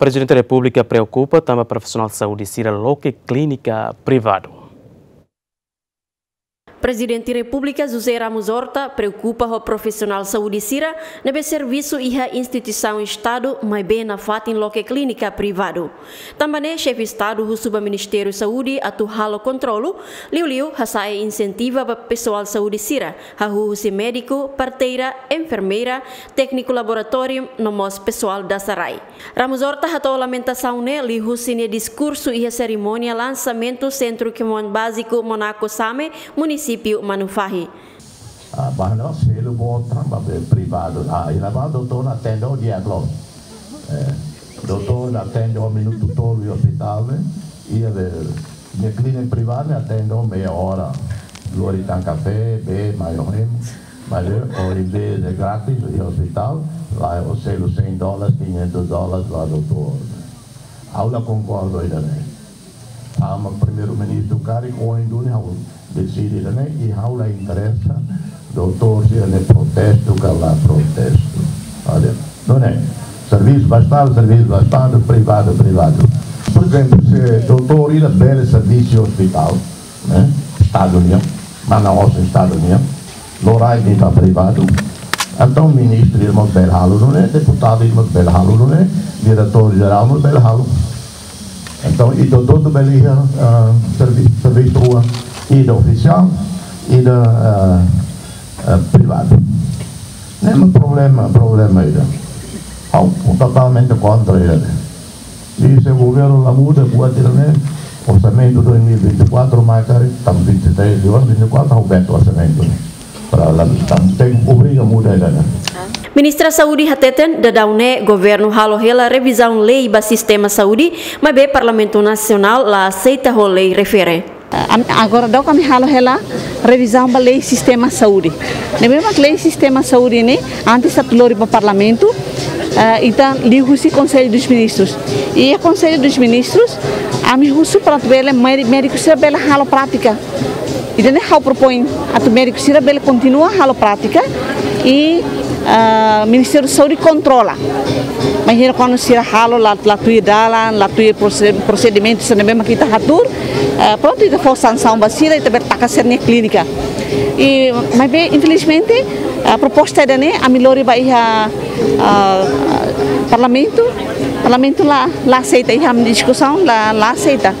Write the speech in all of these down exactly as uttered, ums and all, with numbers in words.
Prezidente Repúblika preokupa tanba profisionál saúde sira loke klínika privadu. Prezidente Repúblika José Ramos Horta preokupa ho profisionál saúde sira ne'ebé servisu iha instituisaun Estadu, maibé nafatin loke klínika privadu. Tanba ne'e, Xefe Estadu husu ba Ministériu Saúde atu halo kontrolu, liuliu hasa'e insentiva ba pesoál saúde sira, hahú husi médiku, parteira, enfermeira, tékniku laboratóriu, no mós pesoál dasa rai. Ramos Horta hato'o lamentasaun ne'e liuhusi nia diskursu iha serimónia lansamentu Sentru Kemoun Báziku Monaco Same, munisípiu Manufahi. Ah, banda selu bota ba be privadu. Ah, iha ne'ebá doutór atende di'ak loos. Eh, doutór atende minutu tolu iha ospitál, eh, iha be, iha klínika privadu atende meia hora. Lori tan kafé, bee, mai ohin. Mas, eh, ao invés de grátis, iha ospitál, la'e selu cem dólares, quinhentos dólares ba doutór. Ha'u la konkorda ida-ne'e. Tanba Primeiru-Ministru karik ohin duni ha'u deside ida-ne'e, i ha'u la interesa doutór sira-nia protestu ka la protestu. Olha, nune'e, servisu ba Estadu, servisu ba Estadu, privadu, privadu. Por ezemplu, se doutór ida bele servisu ospitál, ne'e, Estadu nian, mana osan Estadu nian, lori ba privadu. Entaun ministru ida mós bele halo nune'e, deputadu ida mós bele halo nune'e, diretór jerál mós bele halo. Entaun, ita hotu bele iha, ah, servi-, servisu rua, ida ofisiál, ida, ah, ah, privadu. Ne'e mak problema, problema ida. Ha'u totalmente kontra ida-ne'e. I se governu la muda, buat ida-ne'e, orsamentu dois mil e vinte e quatro mai karik, tanba vinte e três de vinte e quatro, ha'u bele orsamentu ne'e. Para la, tanba tenke obriga muda ida-ne'e. Ministra Saúde hateten, daudaun ne'e governu halo hela revizaun lei ba sistema saúde, maibé Parlamentu Nasionál la aseita ho lei refere. Am-, agora daudaun ami halo hela revizaun ba lei sistema saúde. Ne'ebé mak lei sistema saúde ne'e, antes atu lori ba Parlamentu, eh, entaun liuhusi Konsellu dos Ministrus. I Konsellu dos Ministrus, ami husu para atu bele médi-, médiku sira bele halo prátika. Ida-ne'e ha'u propoin atu médiku sira bele kontinua halo prátika i, ah, Ministériu Saúde kontrola. Bainhira kuandu sira halo la, la tuir dalan, la tuir prose-, prosedimentu sira ne'ebé mak ita hatuur, eh, prontu, ita fó sansaun ba sira, ita bele taka sira-nia klínika. I, maibé, infelizmente, eh, proposta ida-ne'e ami lori ba iha, ah, Parlamentu, Parlamentu la, la aseita, iha diskusaun la, la aseita.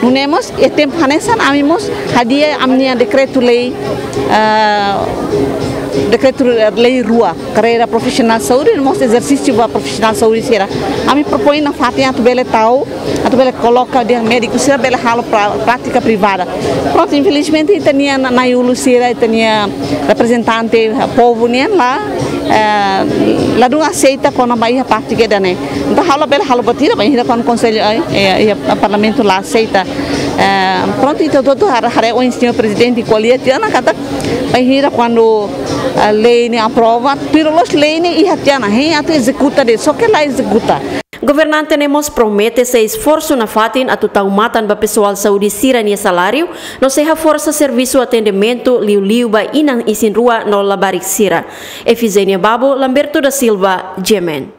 Nune'e mós, iha tempu hanesan ami mós hadi'a ami-nia dekretu-lei, ah, dekretu-lei rua, karreira profisionál saúde, no mós ezersísiu ba profisionál saúde sira. Ami propoin nafatin atu bele tau, atu bele koloka dehan médiku sira bele halo pra-, prátika privada. Prontu, infelizmente, ita-nia na-, na'i-ulun sira, ita-nia reprezentante, eh, povu nian la, eh, ladún aseita kona-ba iha prátika ida-ne'e. Entaun, ha'u labele halo buat ida, bainhira kuandu Konsellu, eh, eh, eh, Parlamentu la aseita. Eh, prontu, ita hotu-hotu haree, haree ohin señór Prezidente ko'alia tiha ona katak, bainhira kuandu, eh, lei ne'e aprova, tuir loloos lei ne'e iha tiha ona, hein, atu ezekuta de'it, só ke la ezekuta. Governante ne'e mós promete sei esforsu nafatin atu tau matan ba pesoál saúde sira-nia saláriu, no sei haforsa servisu atendimentu liuliu ba inan isin-rua no labarik sira. Efigénia Babo, Lamberto da Silva, G M N.